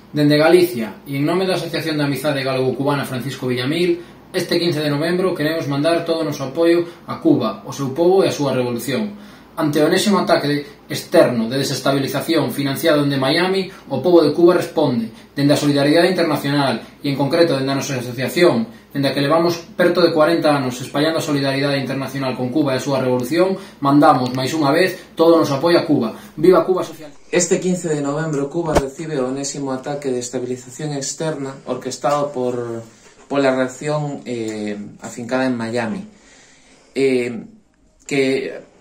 Dende Galicia e en nome da Asociación de Amizade Galego-Cubana Francisco Villamil, este 15 de novembro queremos mandar todo o noso apoio a Cuba, o seu pobo e a súa revolución. Ante o enésimo ataque externo de desestabilización financiado dende Miami, o pobo de Cuba responde, dende a solidariedade internacional e en concreto dende a nosa asociación, dende a que levamos perto de 40 anos espallando a solidariedade internacional con Cuba e a súa revolución, mandamos, máis unha vez, todo o noso apoio a Cuba. Viva Cuba social! Este 15 de novembro Cuba recibe o enésimo ataque de estabilización externa orquestado pola reacción afincada en Miami.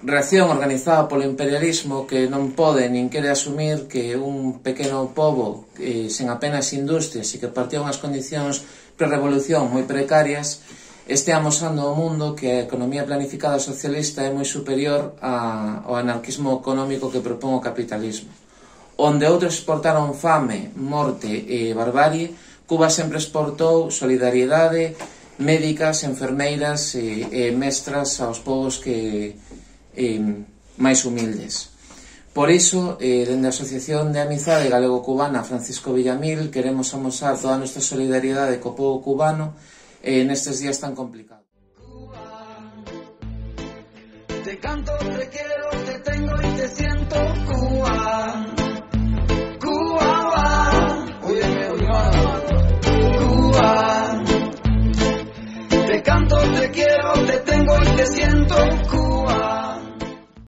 Reacción organizada polo imperialismo que non pode nin quere asumir que un pequeno pobo sen apenas industrias e que partía unhas condicións pre-revolución moi precarias este amosando ao mundo que a economía planificada socialista é moi superior ao anarquismo económico que propón o capitalismo. Onde outros exportaron fame, morte e barbarie, Cuba sempre exportou solidariedade, médicas, enfermeiras e mestras aos povos que máis humildes. Por iso, dende a Asociación de Amizade Galego-Cubana Francisco Villamil, queremos amosar toda a nosa solidariedade co pobo cubano nestes días tan complicados. Te canto, te quiero, te tengo y te siento, Cuba.